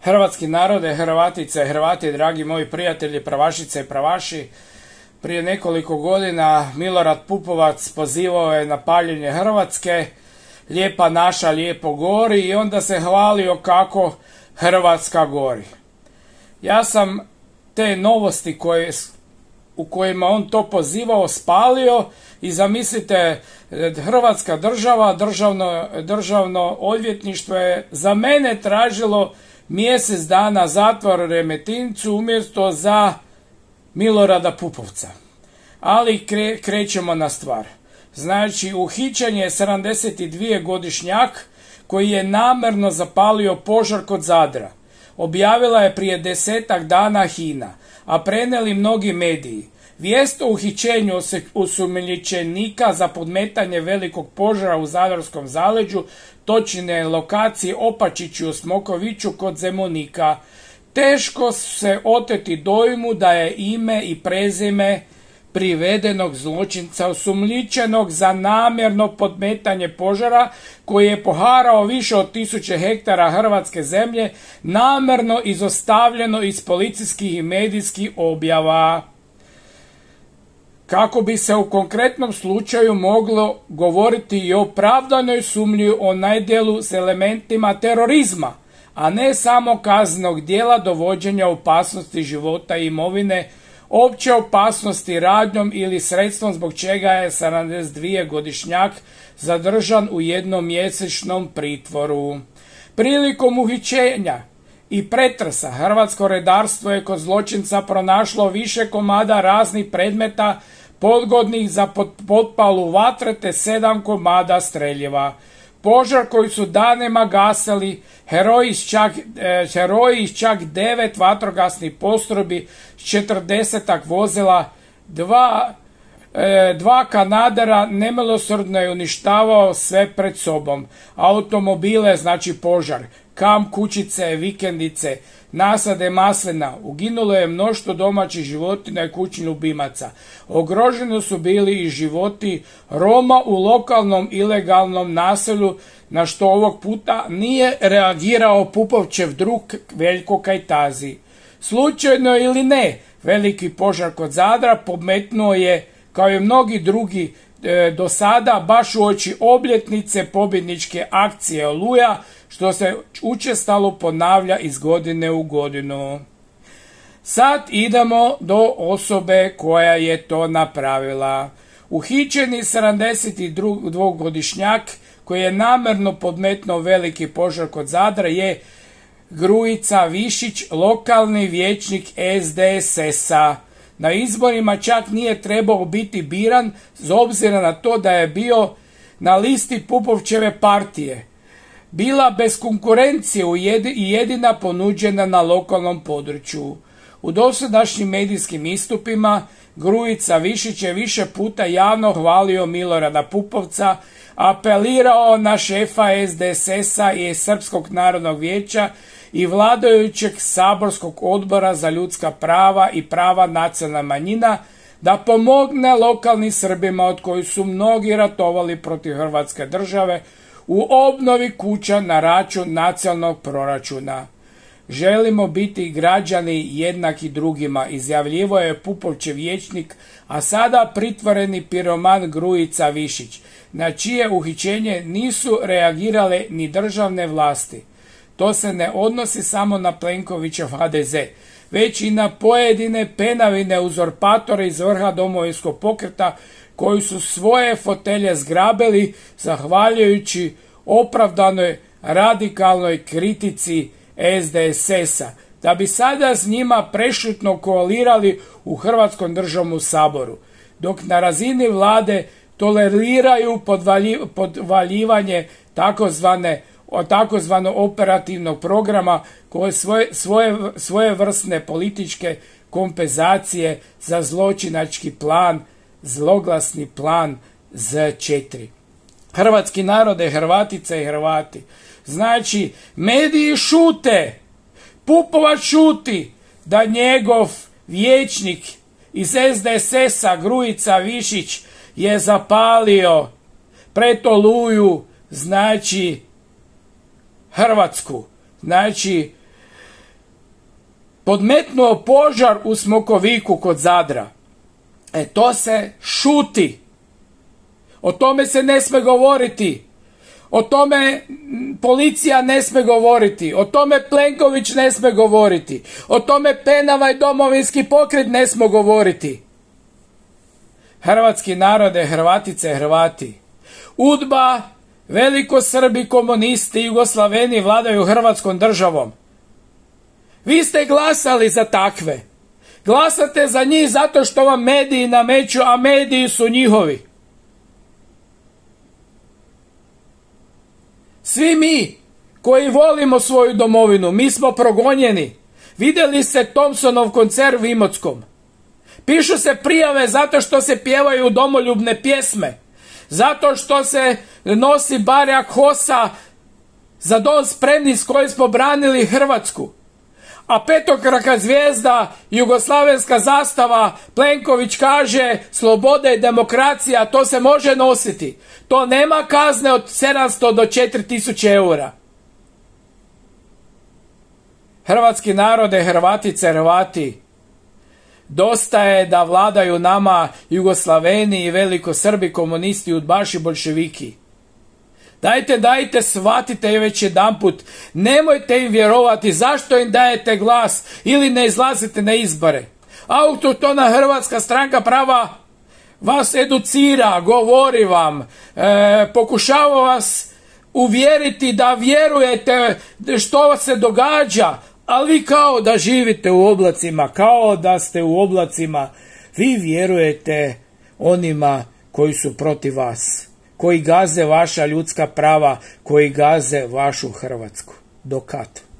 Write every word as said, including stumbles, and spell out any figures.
Hrvatski narode, Hrvatice, Hrvati, dragi moji prijatelji, pravašice i pravaši, prije nekoliko godina Milorad Pupovac pozivao je na paljenje Hrvatske, lijepa naša lijepo gori, i onda se hvalio kako Hrvatska gori. Ja sam te novosti koje, u kojima on to pozivao spalio i zamislite, Hrvatska država, državno, državno odvjetništvo je za mene tražilo mjesec dana zatvor u Remetincu umjesto za Milorada Pupovca. Ali kre, krećemo na stvar. Znači, uhićen je sedamdesetdvogodišnjak koji je namjerno zapalio požar kod Zadra. Objavila je prije desetak dana HINA, a prenijeli mnogi mediji. Vijest o uhićenju osumnjičenika za podmetanje velikog požara u Zadarskom zaleđu, točnije lokaciji Opačiću u Smokoviću kod Zemunika. Teško se oteti dojmu da je ime i prezime privedenog zločinca osumnjičenog za namjerno podmetanje požara koji je poharao više od tisuće hektara hrvatske zemlje namjerno izostavljeno iz policijskih i medijskih objava. Kako bi se u konkretnom slučaju moglo govoriti i o opravdanoj sumnji o nedjelu s elementima terorizma, a ne samo kaznenog djela dovođenja opasnosti života i imovine, opće opasnosti radnjom ili sredstvom zbog čega je sedamdesetdvogodišnjak zadržan u jednomjesečnom pritvoru. Prilikom uhićenja i pretresa hrvatsko redarstvo je kod zločinca pronašlo više komada raznih predmeta podgodnih za potpalu vatre te sedam komada streljiva. Požar koji su danima gasili heroji iz čak, eh, heroji iz čak devet vatrogasnih postrojbi, četrdesetak vozila, dva, eh, dva kanadera, nemilosrdno je uništavao sve pred sobom. Automobile, znači požar, kamp kućice, vikendice, nasade maslina, uginulo je mnoštvo domaćih životinja i kućnih ljubimaca. Ogroženi su bili i životi Roma u lokalnom ilegalnom naselju, na što ovog puta nije reagirao Pupovčev drug Veljko Kajtazi. Slučajno ili ne, veliki požar kod Zadra podmetnuo je, kao i mnogi drugi e, do sada, baš uoči obljetnice pobjedničke akcije Oluja, što se učestalo ponavlja iz godine u godinu. Sad idemo do osobe koja je to napravila. Uhićeni sedamdesetdvogodišnjak koji je namjerno podmetnuo veliki požar kod Zadra je Grujica Višić, lokalni vijećnik S D S S-a. Na izborima čak nije trebao biti biran s obzirom na to da je bio na listi Pupovčeve partije. Bila bez konkurencije i jedina ponuđena na lokalnom području. U dosadašnjim medijskim istupima Grujica Višić je više puta javno hvalio Milorada Pupovca, apelirao na šefa S D S S-a i Srpskog narodnog vijeća i vladajućeg saborskog odbora za ljudska prava i prava nacionalnih manjina da pomogne lokalnim Srbima od kojih su mnogi ratovali protiv Hrvatske države u obnovi kuća na račun nacionalnog proračuna. Želimo biti građani jednaki drugima, izjavljivo je Pupovčev vijećnik, a sada pritvoreni piroman Grujica Višić, na čije uhićenje nisu reagirale ni državne vlasti. To se ne odnosi samo na Plenkovićev H D Z, već i na pojedine penavine uzurpatore iz vrha Domovinskog pokreta koji su svoje fotelje zgrabili zahvaljujući opravdanoj radikalnoj kritici S D S S-a, da bi sada s njima prešutno koalirali u Hrvatskom državnom saboru, dok na razini vlade toleriraju podvalji, podvaljivanje takozvane takozvano operativnog programa koje svoje, svoje, svoje vrstne političke kompenzacije za zločinački plan, zloglasni plan Z četiri. Hrvatski narode, Hrvatice i Hrvati. Znači, mediji šute, Pupovac šuti da njegov vijećnik iz S D S S-a Grujica Višić je zapalio pred Oluju, znači Hrvatsku. Znači, podmetnuo požar u Smokoviku kod Zadra. E to se šuti. O tome se ne sme govoriti. O tome policija ne sme govoriti. O tome Plenković ne sme govoriti. O tome Penava i Domovinski pokret ne sme govoriti. Hrvatski narode, Hrvatice, Hrvati. UDBA, velikosrbi, komunisti, Jugoslaveni vladaju Hrvatskom državom. Vi ste glasali za takve. Glasate za njih zato što vam mediji nameću, a mediji su njihovi. Svi mi koji volimo svoju domovinu, mi smo progonjeni. Vidjeli ste Thompsonov koncert u Imotskom. Pišu se prijave zato što se pjevaju domoljubne pjesme. Zato što se nosi barjak HOS-a Za dom spremni s kojim smo branili Hrvatsku. A petokraka zvijezda, jugoslavenska zastava, Plenković kaže sloboda i demokracija, to se može nositi. To nema kazne od sedamsto do četiri tisuće eura. Hrvatski narode, Hrvatice, Hrvati, dosta je da vladaju nama Jugoslaveni i velikosrbi, komunisti, udbaši, bolševiki. Dajte, dajte, shvatite već jedanput, nemojte im vjerovati, zašto im dajete glas ili ne izlazite na izbore. Autohtona Hrvatska stranka prava vas educira, govori vam, e, pokušava vas uvjeriti da vjerujete što se događa, ali vi kao da živite u oblacima, kao da ste u oblacima, vi vjerujete onima koji su protiv vas, koji gaze vaša ljudska prava, koji gaze vašu Hrvatsku. Do kad?